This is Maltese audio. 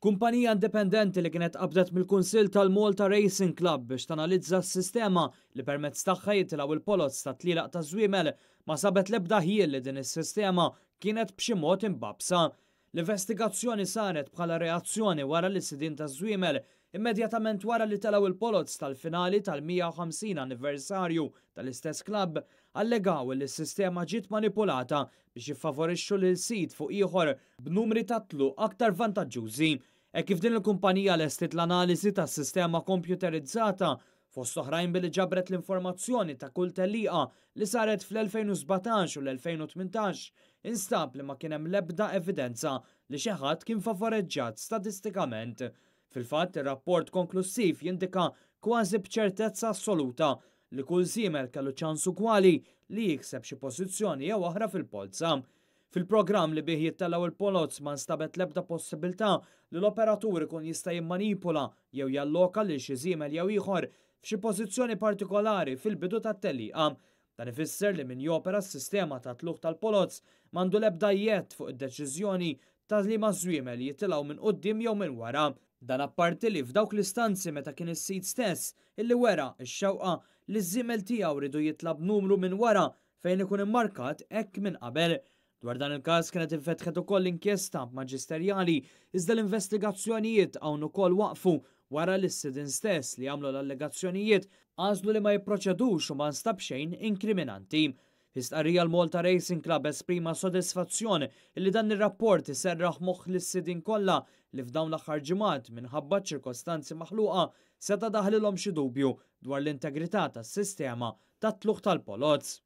Kumpanija indipendenti li kienet qabdet mill-Kunsill tal-Malta Racing Club biex tanalizza s-sistema li permezz tagħha jitilgħu l-poloz tat-tlielaq taż-żwiemel ma sabet l-ebda ħjiel li din is-sistema kienet b'xi mod imbagħbsa. L-investigazzjoni saret bħala reazzjoni wara li sidien taż-żwiemel immedjatament wara li telgħu l-poloz tal-finali tal-150 anniversarju tal-istess klabb allegaw li s-sistema ġiet manipulata biex jiffavorixxu lil sid fuq ieħor b'numri ta' tluq aktar vantaġġużi. Hekk kif din il-kumpanija lestiet l-analiżi tas-sistema kompjuterizzata, fost oħrajn billi ġabret l-informazzjoni ta' kull tellieqa li saret fl-2017 u l-2018, instab li ma kien hemm l-ebda evidenza li xi ħadd kien favoreġġat statistikament. Fil-fatt, ir-rapport konklussiv jindika kważi b'ċertezza assoluta li kull żiemel kellu ċans ugwali li jikseb xi pożizzjoni jew oħra fil-polza. Fil-programm li bih jittellgħu il-poloz ma nstabet l-ebda possibilità li l-operatur ikun jista' jimmanipula jew jalloka lil xi żiemel jew ieħor f'xi pożizzjoni partikolari fil-bidu tat-tellieqa. Dan ifisser li min jopera s-sistema ta' tlugħ tal-poloz m'għandu l-ebda jedd fuq id-deċiżjoni ta' liema żwiemel jitilgħu minn quddiem jew minn wara. Dan apparti li f'dawk l-istanzi meta kien is-sid stess illi wera x-xewqa li ż-żiemel tiegħu riedu jitla' b'numru minn wara fejn ikun immarkat hekk minn qabel. Dwar dan il-każ kienet infetħet ukoll inkjesta maġisterjali iżda l-investigazzjonijiet hawn ukoll waqfu wara li s-sidien stess li għamlu l-allegazzjonijiet għażlu li ma jipproċedux u ma nstab xejn inkriminanti. Fi stqarrija l-Malta Racing Club esprima sodisfazzjon li dan ir-rapport iserraħ moħħ lis-sidien kollha li f'dawn l-aħħar ġimgħat minħabba ċirkostanzi maħluqa seta' daħlilhom xi dubju dwar l-integrità tas-sistema tat-tlugħ tal-poloz.